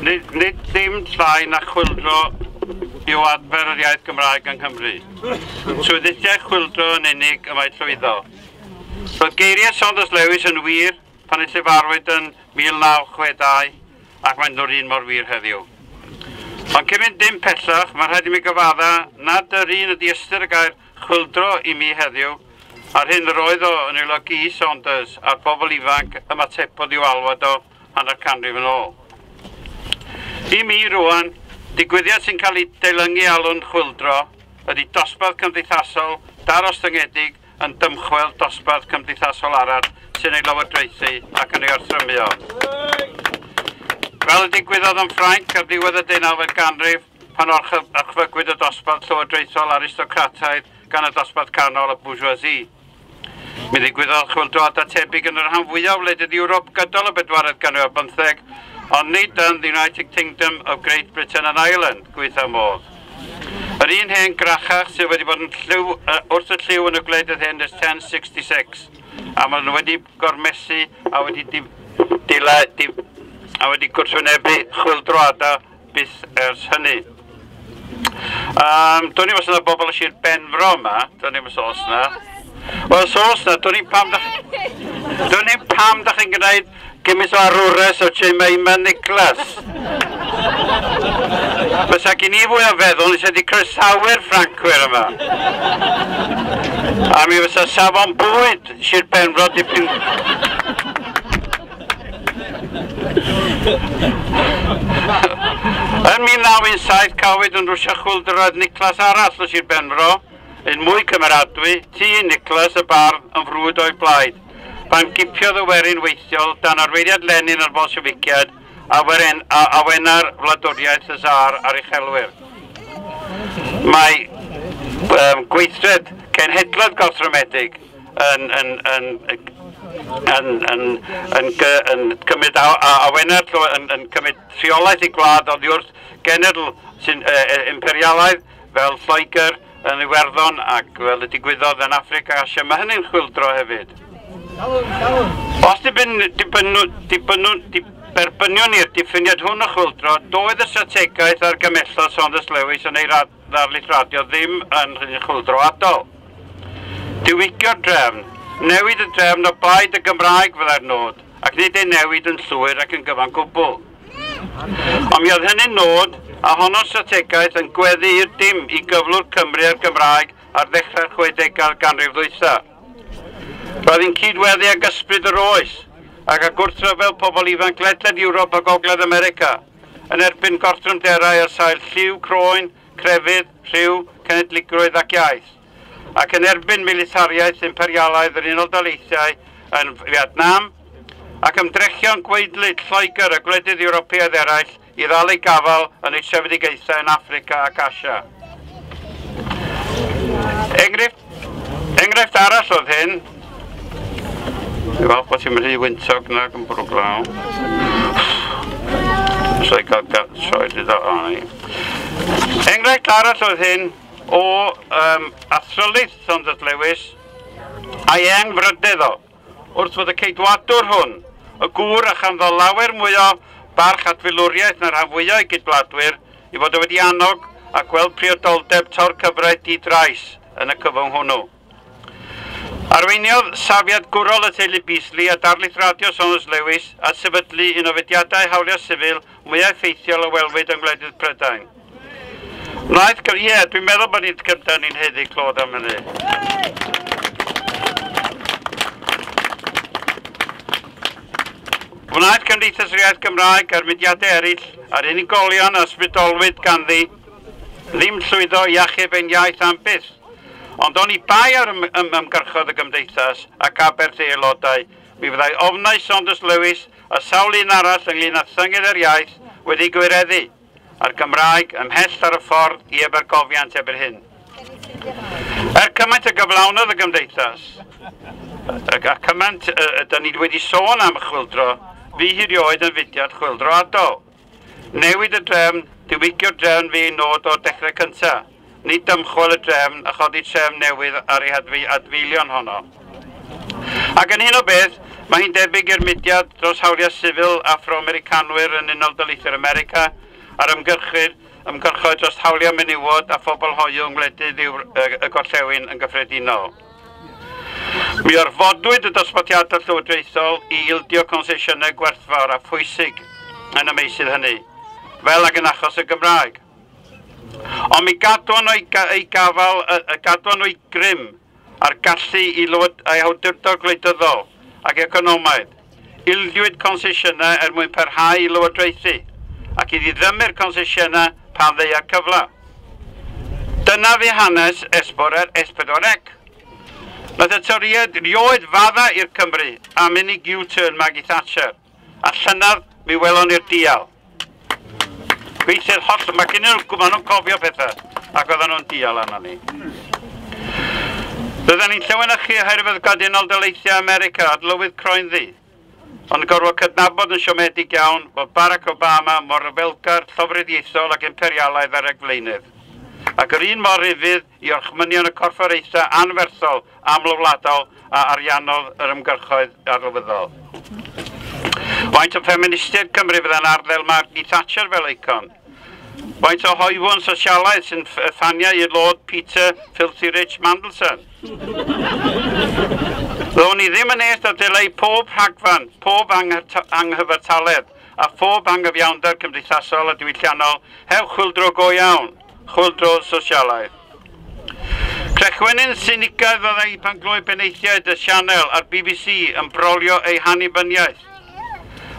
Nid dim llai na chwyldro yw adfer yr iaith Gymraeg yng Nghymru. Trwy ddulliau chwyldro yn unig y mae llwyddo. Roedd geiriau Saunders Lewis yn wir pan ei llefarwyd yn 1962 ac mae'n nhw'r un mor wir heddiw. Ond cyn mynd dim pellach, mae'n rhaid i mi gyfadda nad yr un ydy ystyr y gair chwyldro i mi heddiw, a'r hyn yr oedd o yn ei olygu i Saunders a'r bobl ifanc ymatebodd i'w alwad o hanner canrif yn ôl. I mi rwan, digwyddiad sy'n cael ei deilyngu alw'n chwyldro ydy dosbarth cymdeithasol darostyngedig yn dymchwel dosbarth cymdeithasol arall sy'n ei lywodraethu ac yn ei orthrymio. Fel y digwyddodd yn Ffrainc ar ddiwedd y 19fed ganrif pan orchfygwyd y dosbarth llywodraethol aristocrataidd gan y dosbarth canol y bourgeoisie. Mi ddigwyddodd chwyldroadau tebyg yn y rhan fwyaf o wledydd Ewrop gydol y bedwaredd ganrif ar bymtheg, ond nid yn the United Kingdom of Great Britain and Ireland, gweitha modd. Yr un hen grachach sydd wedi bod yn llyw, wrth y llyw yn y gwledydd hyn ers 1066, a maen nhw wedi gormesu a wedi a wedi gwrthwynebu chwyldroadau byth ers hynny. Do'n i'm os yna bobl o Sir Benfro yma, do'n i'm os oes yna. Wel, os oes yna, do'n i'm pam da chi'n gwneud gymaint o arwres o Jemima Nicholas. Fysa gen i fwy o feddwl, nes wedi croesawu'r Ffrancwyr yma. A mi fysa safon bwyd Sir Benfro dipyn... Yn 1917 cafwyd yn Rwsia chwyldroad Nicholas arall o Sir Benfro, un mwy cymeradwy, T. Nicholas y bardd yn frwd o'i blaid, pan gipiodd y werin weithiol dan arweiniad Lenin a'r Bolsheficiaid a awena'r wladwriaeth y Tsar a'r uchelwyr. Mae gweithred cenhedloedd gorthrymedig yn cymryd awena'r yn cymryd rheolaeth i gwlad oddi wrth genedl sy'n imperialaidd fel Lloegr yn Iwerddon ac fel y digwyddodd yn Affrica a Asia. Mae hynny'n chwyldro hefyd. Os derbyniwn ni'r diffiniad hwn o chwyldro, doedd y strategaeth a'r gymellodd Saunders Lewis yn ei ddarlith radio ddim yn chwyldroadol. Diwygio'r drefn, newid y drefn o blaid y Gymraeg fyddai'r nod, ac nid ei newid yn llwyr ac yn gyfan gwbl. Ond mi oedd hynny'n nod a honno'r strategaeth yn gweddu i'r dim i gyflwr Cymru a'r Gymraeg ar ddechrau'r 60au'r ganrif ddwytha. Roedd hi'n cydweddu ag ysbryd yr oes ac â gwrthryfel pobl ifanc ledled Ewrop a Gogledd America yn erbyn gorthrymderau ar sail lliw, croen, crefydd, rhyw, cenedligrwydd ac iaith, ac yn erbyn militariaeth imperialaidd yr Unol Daleithiau yn Vietnam, ac ymdrechion gwaedlyd Lloegr a gwledydd Ewropeaidd eraill i ddal eu gafael yn eu trefedigaethau yn Affrica ac Asia. Enghraifft arall oedd hyn. Dwi'n falch bod ti'n rhy wyntog nag yn bwrw glaw. So i gael troed iddo arni. Enghraifft arall oedd hyn o athrylith Saunders Lewis a'i engfrydedd o, wrth fod y ceidwadwr hwn, y gŵr a chanddo lawer mwy o barch at filwriaeth na'r rhan fwyaf o'i gydwladwyr, i fod o wedi annog a gweld priodoldeb torcyfraith di-drais yn y cyfwng hwnnw. Arweiniodd safiad gwrol y teulu Beasley a darlith radio Saunders Lewis a sefydlu un o fudiadau hawliau sifil mwyaf effeithiol a welwyd yng ngwledydd Prydain. Wnaeth, ie, dwi'n meddwl bod ni'n cyntaf ni'n haeddu clod am hynny. Wnaeth Cymdeithas yr Iaith Gymraeg a'r mudiadau eraill a'r unigolion a ysbrydolwyd ganddi ddim llwyddo i achub ein iaith am byth. Ond oni bai ar ymgyrchodd y gymdeithas ac aberth ei aelodau, mi fyddai ofnau Saunders Lewis a sawl un arall ynglyn â thynged yr iaith wedi gwireddu, a'r Gymraeg ymhell ar y ffordd i ebargofiant erbyn hyn. Er cymaint y gyflawnodd y gymdeithas, a cymaint ydyn ni wedi sôn am y chwyldro, fu hi rioed yn fudiad chwyldroadol. Newid y drefn, diwygio'r drefn fu ei nod o'r dechrau cyntaf, nid dymchwel y drefn a chodi trefn newydd ar ei adfeilion honno. Ac yn hyn o beth, Mae hi'n debyg i'r mudiad dros hawliau sifil Afro-Americanwyr yn Unol Daleithiau America a'r ymgyrchoedd dros hawliau menywod a phobl hoyw yng ngwledydd y gorllewin yn gyffredinol. Mi orfodwyd y dosbarthiadau llywodraethol i ildio consesiynau gwerthfawr a phwysig yn y meysydd hynny, fel ag yn achos y Gymraeg. Ond mi gadwon nhw gafael, gadwon nhw grym a'r gallu i awdurdod gwleidyddol ac economaidd. Ildiwyd consesiynau er mwyn parhau i lywodraethu ac i ddiddymu'r consesiynau pan ddeuai'r cyfle. Dyna fu hanes S4C. Nath y Torïaid rioed fadda i'r Cymry am unig U-turn Maggie Thatcher, a llynedd mi welon ni'r dial. Gweithio'r holl, mae gen nhw, maen nhw'n cofio pethau, ac oedden nhw'n dial arno ni. Bydden ni'n llewenychu oherwydd gwlad Unol Daleithiau America adlywydd croenddu, ond gorfod cydnabod yn siomedig iawn bod Barack Obama mor ryfelgar, llofruddiaethol ac imperialaidd ar ragflaenydd, ac yr un mor ufudd i orchmynion y corfforaethau anferthol amlwladol a ariannodd yr ymgyrchoedd arlywyddol. Faint o ffeministiaid Cymru fydda'n arddel Margaret Thatcher fel eicon? Faint o hoywon sosialaidd sy'n ffaniau i'r Lord Peter Filthy Rich Mandelson? Ddown ni ddim yn est a dileu pob rhagfarn, pob anghyfartaledd a phob anghyfiawnder cymdeithasol a diwylliannol heb chwyldro go iawn, chwyldro sosialaidd. Crechwenyn sinigaidd fyddai pan gloi benaethiaid y sianel a'r BBC yn brolio eu hannibyniaeth.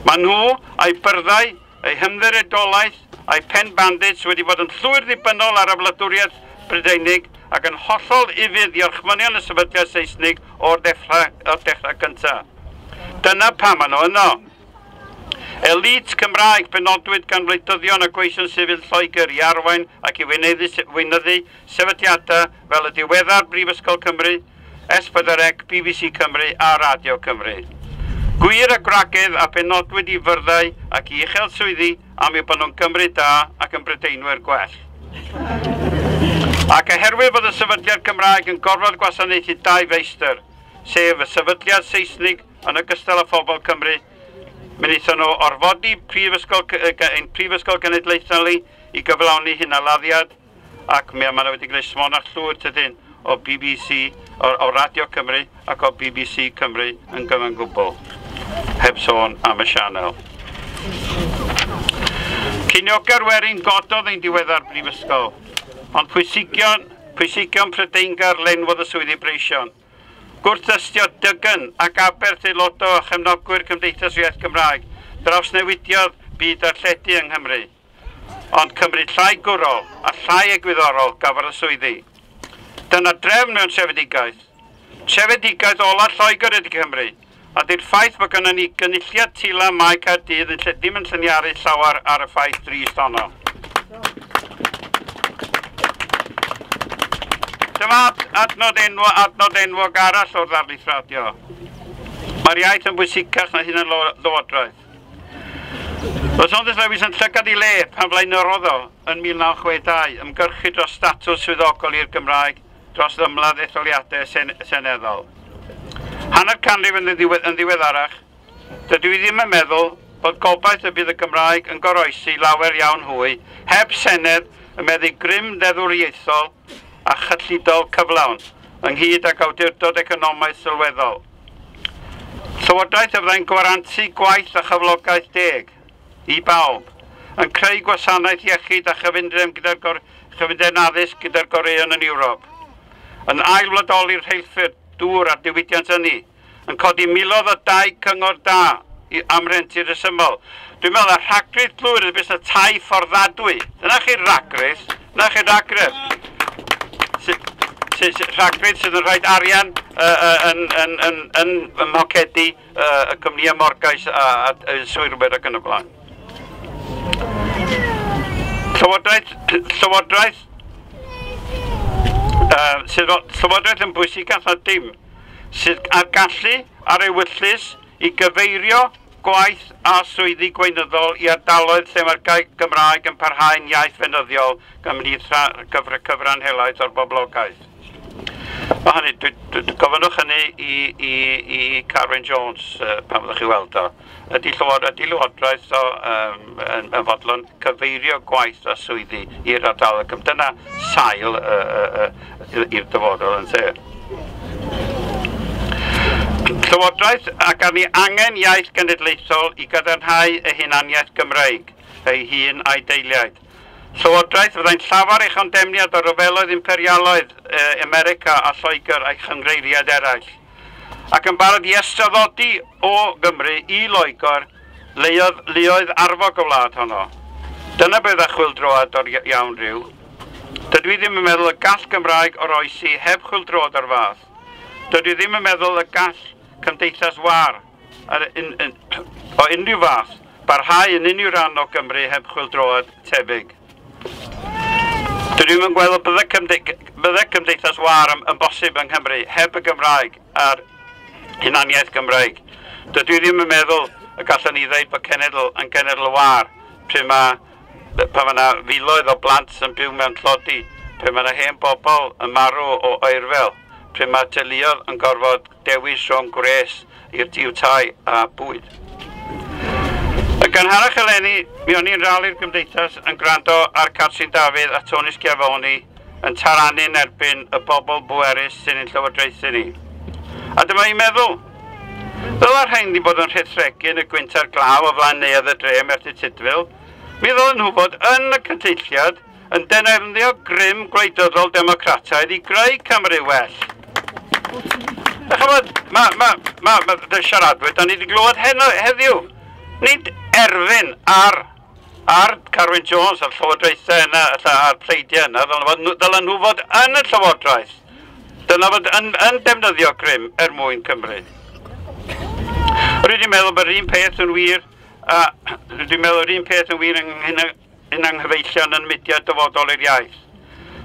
Mae nhw a'i byrddau, eu hymddiriedolaeth a'i pen bandits wedi bod yn llwyr ddibynnol ar y wladwriaeth Brydeinig ac yn hollol ufudd i orchmynion y sefydliad Seisnig o'r dechrau cyntaf. Dyna pam maen nhw yno. Elite Cymraeg benodwyd gan wleidyddion a gweision sifil Lloegr i arwain ac i weinyddu sefydliadau fel y diweddar Brifysgol Cymru, S4C, BBC Cymru a Radio Cymru. Gwir a gwragedd a benodwyd i fyrddau ac i uchel swyddi am eu bod nhw'n Gymru da ac yn Brydeinwyr gwell. Ac oherwydd bod y sefydliad Cymraeg yn gorfod gwasanaethu dau feistr, sef y sefydliad Seisnig yn ogystal â phobl Cymru, mi wnaethon nhw orfodi ein Prifysgol Genedlaethol i gyflawni hunaladdiad, ac mi maen nhw wedi gwneud smonach llwyr tydyn o BBC, o Radio Cymru ac o BBC Cymru yn gyfan gwbl, heb sôn am y sianel. Cinioga'r werin gododd ein diweddar brifysgol, ond pwysigion Prydeingar lenwodd y swyddi breision. Gwrthdystio dygn ac aberth aelodau a chefnogwyr Cymdeithas Iaith Gymraeg drawsnewidiodd byd darlledu yng Nghymru, ond Cymru llai gwrol a llai egwyddorol gafodd y swyddi. Dyna drefn mewn trefedigaeth. Trefedigaeth ola Lloegr ydy Cymru, a di'r ffaith bod gynnon ni gynulliad tila Mae Caerdydd ddim yn lliniaru llawer ar y ffaith drist honno. Dyma adnod enwog arall o'r ddarlith radio. Mae'r iaith yn bwysicach na hunan lywodraeth. Roedd Saunders Lewis yn llygad i le pan flaenorodd o yn 1962 ymgyrchu dros statws swyddogol i'r Gymraeg dros ymladd etholiadau seneddol. Hanner canrif yn ddiweddarach, dydw i ddim yn meddwl bod gobaith y bydd y Gymraeg yn goroesi lawer iawn hwy heb senedd yn meddu grym deddfwriaethol a chyllidol cyflawn, ynghyd ag awdurdod economaidd sylweddol. Llywodraeth a fyddai'n gwarantu gwaith a chyflogaeth deg i bawb, yn creu gwasanaeth iechyd a chyfundrefn gyda'r addysg gyda'r goreuon yn Ewrop, yn ailwladoli'r rheilffyrdd, dŵr a'r diwydiant ynni, yn codi miloedd o dai cyngor da am rentu rhesymol. Dwi'n meddwl y rhagrith llwyr ydy busnes tai fforddadwy. Dyna chi'r rhagrith, dyna chi'r rhagrith. Rhagrith sydd yn rhoi arian yn mhocedi y cwmnïau morgais a swyrwyr ac yn y blaen. Llywodraeth yn bwysicach na dim, sydd â'r gallu a'r ewyllys i gyfeirio gwaith a swyddi gweinyddol i ardaloedd lle mae'r Gymraeg yn parhau'n iaith feunyddiol ymhlith cyfran helaeth o'r boblogaeth. Mae hynny, gofynnwch hynny i Carwyn Jones pan fyddwch chi weld o. Ydy Llywodraeth o yn fodlon cyfeirio gwaith a swyddi i'r ardal? Dyna sail i'r dyfodol yn lle. Llywodraeth ac arni angen iaith genedlaethol i gadarnhau ei hunaniaeth Gymreig, ei hun a'i deiliaid. Llywodraeth fyddai'n llafar ei chondemniad o ryfeloedd imperialaidd America a Lloegr a'i chynghreiriaid eraill, ac yn barod i estraddodi o Gymru i Loegr luoedd arfog y wlad honno. Dyna beth a chwyldroad o'r iawn rhyw. Dydw i ddim yn meddwl y gall Gymraeg oroesi heb chwyldroad o'r fath. Dydw i ddim yn meddwl y gall cymdeithas war o unrhyw fath barhau yn unrhyw ran o Gymru heb chwyldroad tebyg. Dydw i'm yn gweld bydde cymdeithas war yn bosib yng Nghymru heb y Gymraeg a'r hunaniaeth Gymraeg. Dydw i ddim yn meddwl y gallwn ni ddeud bod cenedl yn genedl war pryd mae pan mae yna filoedd o blant yn byw mewn tlodi, pryd mae yna hen bobl yn marw o oerfel, pryd mae teuluoedd yn gorfod dewis rhwng gwres i'w tai a bwyd. Yn gynharach eleni, mi o'n i'n rali'r gymdeithas yn gwrando ar Catrin Dafydd a Tony Schiavone yn taranu'n erbyn y bobl bwerus sy'n ein llywodraethu ni. A dyma i'n meddwl, ddyla'r rhain ddim bod yn rhethregu yn y gwynt a'r glaw o flaen neuadd y dre Merthyr Tudful. Mi ddylen nhw fod yn y cynulliad yn defnyddio grym gwleidyddol democrataidd i greu Cymru well. Da ch'mod, ma' siaradwyr, da ni wedi glywed heddiw. Nid erfyn ar Carwyn Jones a'r llywodraethau yna, a'r pleidiau yna, ddylen nhw fod yn y llywodraeth. Dyna fod yn defnyddio grym er mwyn Cymru. Rydw i'n meddwl bod yr un peth yn wir, rydw i'n meddwl yr un peth yn wir yn anghyfeillion yn mudiad dyfodol i'r iaith.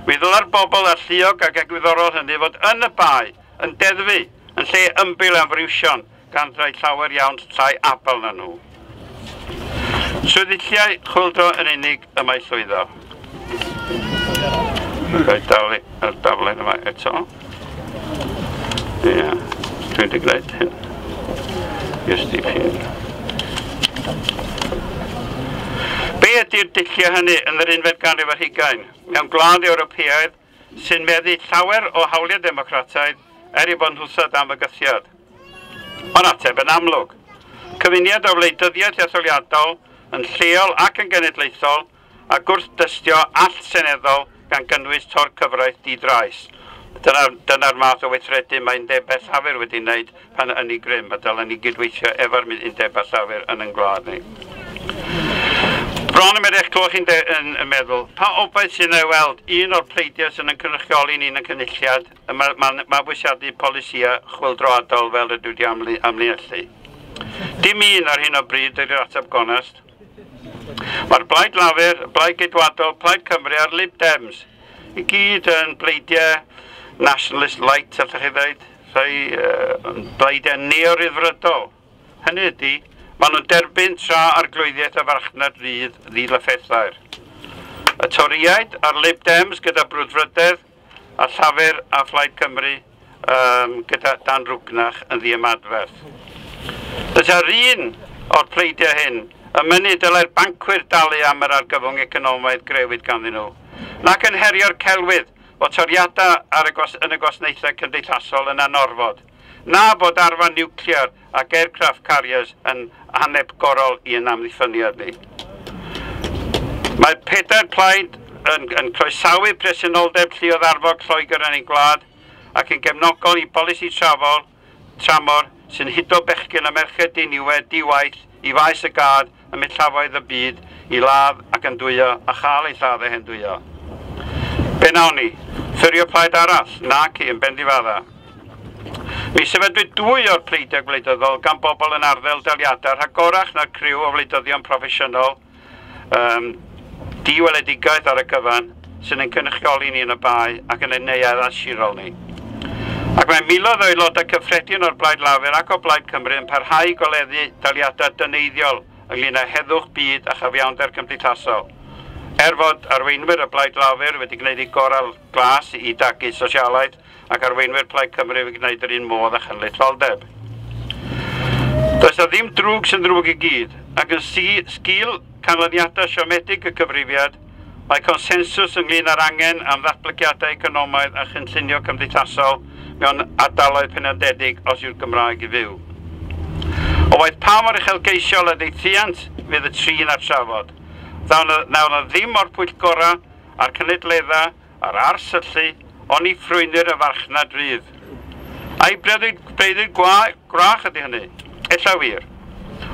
Mi ddyla'r bobl alluog ac egwyddorol hynny fod yn y bae, yn deddfu, yn lle ymbil am friwsion gan rai llawer iawn llai abal na nhw. Swyddulliau chwyldro yn unig y mae llwyddo. Rhaid dal y daflen yma eto. Ie, dwi wedi gwneud hyn. Just i fi. Be ydy'r dulliau hynny yn yr unfed ganrif ar hugain? Mewn gwlad Ewropeaidd sy'n meddu llawer o hawliau democrataidd er ei bod nhw'n dan fygythiad. Ond ateb yn amlwg. Cyfuniad o wleidyddiaeth etholiadol yn lleol ac yn genedlaethol a gwrthdystio all-seneddol gan gynnwys tor-cyfraith di-drais. Dyna'r math o weithredu mae undebau llafur wedi wneud pan yn ei grym, a dylen ni gydweithio efo'r undebau llafur yn ein gwlad ni. Bron yn eich clywed chi'n yn meddwl, pa obaith sy'n ei weld un o'r pleidiau sy'n yn cynrychioli ni'n y cynulliad yn mabwysiadu polisïau chwyldroadol fel ydw wedi amlinellu? Dim un ar hyn o bryd ydy'r ateb gonest. Mae'r Blaid Lafur, Blaid Geidwadol, Plaid Cymru a'r Lib Dems i gyd yn bleidiau nationalist light, allwch chi ddweud, rhai bleidiau neo-ryddfrydol. Hynny ydy, maen nhw'n derbyn tra arglwyddiaeth y farchnad rydd ddilyffethair. Y Torïaid a'r Lib Dems gyda brwdfrydedd a Llafur a Phlaid Cymru gyda Dan Rwgnach yn ddiymadferth. Dyna'r un o'r pleidiau hyn yn mynnu dylai'r bancwyr dalu am yr argyfwng economaidd grewyd ganddyn nhw, nac yn herio'r celwydd bod toriadau yn y gwasanaethau cymdeithasol yn anorfod, na bod arfau niwclear ac aircraft carriers yn anhepgorol i'n amddiffyniad ni. Mae pedair plaid yn croesawu presenoldeb lluoedd arfog Lloegr yn ein gwlad ac yn gefnogol i bolisi tramor sy'n hudo bechgyn a merched diniwed di-waith i faes y gad ym millafoedd y byd i ladd ac yn dwyo a chael ei lladd eu hendwyo. Be nawn ni? Ffurfio plaid arall? Naci, yn bendifadda. Mi sefydlwyd dwy o'r pleidiau gwleidyddol gan bobl yn arddel daliadau rhagorach na'r criw o wleidyddion proffesiynol, diweledigaeth ar y cyfan, sy'n ein cynrychioli ni yn y bae ac yn ein neuaddau sirol ni. Ac mae miloedd o aelodau cyffredin o'r Blaid Lafur ac o Blaid Cymru yn parhau i goleddu daliadau dyneiddiol ynglyn â heddwch byd a chyfiawnder cymdeithasol. Er fod arweinwyr y Blaid Lafur wedi gwneud eu gorau glas i dagu sosialaeth ac arweinwyr Plaid Cymru wedi gwneud yr un modd â chenedlaetholdeb. Does 'na ddim drwg sy'n ddrwg i gyd, ac yn sgil canlyniadau siomedig y cyfrifiad, mae consensws ynglyn â'r angen am ddatblygiadau economaidd a chynllunio cymdeithasol mewn ardaloedd penodedig os yw'r Gymraeg i fyw. O waeth pa mor uchelgeisiol a ddeithiant fydd y trin a'r trafod, ddaw na ddim o'r pwyllgorau a'r cynadleddau a'r arsyllu oni ffrwynir y farchnad rydd. A'i breuddwyd gwrach ydy hynny? Ella wir.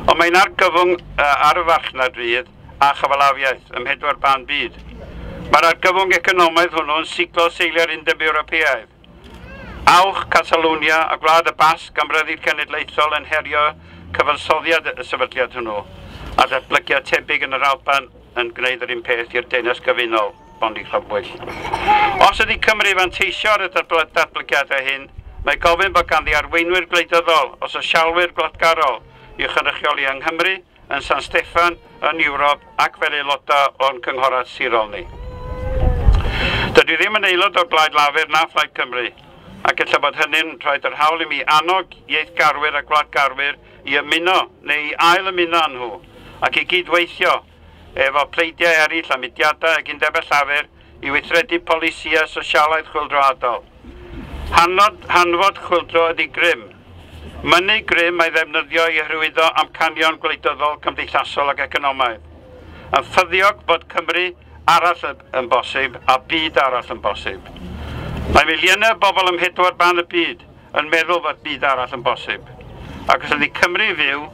Ond mae'n argyfwng ar y farchnad rydd a chyfalafiaeth ym mhedwar ban byd. Mae'r argyfwng economaidd hwnnw yn siglo seiliau'r Undeb Ewropeaidd. Awch, Catalonia a Gwlad y Basg am ryddid cenedlaethol yn herio cyfansoddiad y sefydliad hwnnw, a datblygiad tebyg yn yr Alban yn gwneud yr un peth i'r Deyrnas Gyfunol, Bondi Clybwyll. Os ydy Cymru fanteisio ar y datblygiadau hyn, mae gofyn bod ganddi arweinwyr gwleidyddol o sosialwyr gwladgarol i'w chynrychioli yng Nghymru, yn San Steffan, yn Ewrop ac fel aelodau o'n cynghorau sirol ni. Dydw i ddim yn aelod o'r Blaid Lafur na Phlaid Cymru, ac ella bod hynny'n rhoi'r hawl i mi annog ieithgarwyr a gwladgarwyr i ymuno neu i ail ymuno â nhw, ac i gydweithio efo pleidiau eraill a mudiadau ac undebau llafur i weithredu polisïau sosialaidd chwyldroadol. Hanfod chwyldro ydy grym. Mynnu grym a'i ddefnyddio i hyrwyddo amcanion gwleidyddol, cymdeithasol ac economaidd. Yn ffyddiog bod Cymru arall yn bosib a byd arall yn bosib. Mae miliynau o bobl ym mhedwar ban y byd yn meddwl bod byd arall yn bosib. Ac os ydy Cymru fyw,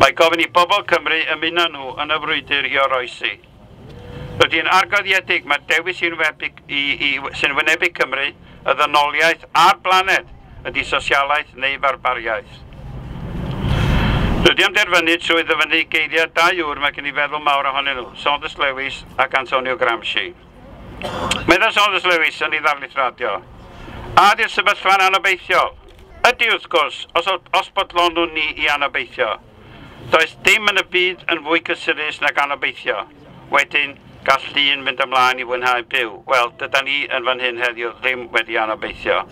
mae gofyn i bobl Cymru ymuno nhw yn y frwydr i oroesi. Rydw i'n argyhoeddedig mae'r dewis sy'n wynebu Cymru, y ddynoliaeth a'r blaned ydy sosialaeth neu farbariaeth. Rydw i am derfynu trwy ddyfynnu geiriau dau ŵr mae gen i feddwl mawr ohonyn nhw, Saunders Lewis ac Antonio Gramsci. Meddai Saunders Lewis yn ei ddarlith radio, a ydy'r sefyllfa'n anobeithiol? Ydy wrth gwrs, os bodlonwn ni i anobeithio. Does dim yn y byd yn fwy cysurus nag anobeithio. Wedyn, gall dyn fynd ymlaen i fwynhau byw. Wel, dydan ni yn fan hyn heddiw ddim wedi anobeithio.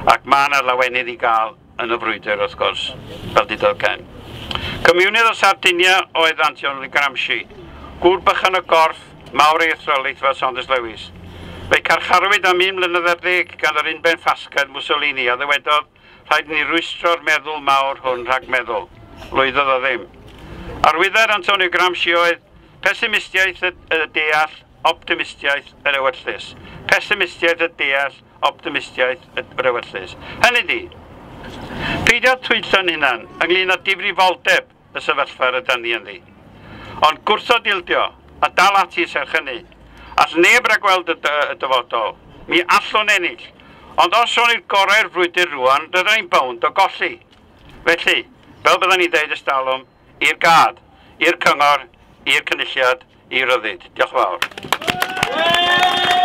Ac mae yna lawenydd i gael yn y frwydr, wrth gwrs, fel dudodd Ken. Comiwnydd o Sardinia oedd Antonio Gramsci, gŵr bychan o gorff, mawr ei athrylith fel Saunders Lewis. Fe'i carcharwyd am 1 mlynedd ar ddeg gan yr unben ffasgaidd Mussolini a ddywedodd rhaid ni rwystro'r meddwl mawr hwn rhag meddwl. Lwyddodd o ddim. Arwyddair Antonio Gramsci oedd pessimistiaeth y deall, optimistiaeth yr ewyllys. Pessimistiaeth y deall, optimistiaeth yr ewyllys. Hynny di, peidio twyllo'n hunan ynglyn â difrifoldeb y sefyllfa rydan ni ynddi. Ond gwrthod ildio a dal ati serch hynny. All neb ragweld y dyfodol. Mi allwn ennill. Ond os o'n i'r gorau'r frwydr rwan, rydyn ni'n bownd o golli. Felly, fel byddwn ni'n deud ystalwm, i'r gad, i'r cyngor, i'r cynulliad, i ryddid. Diolch yn fawr.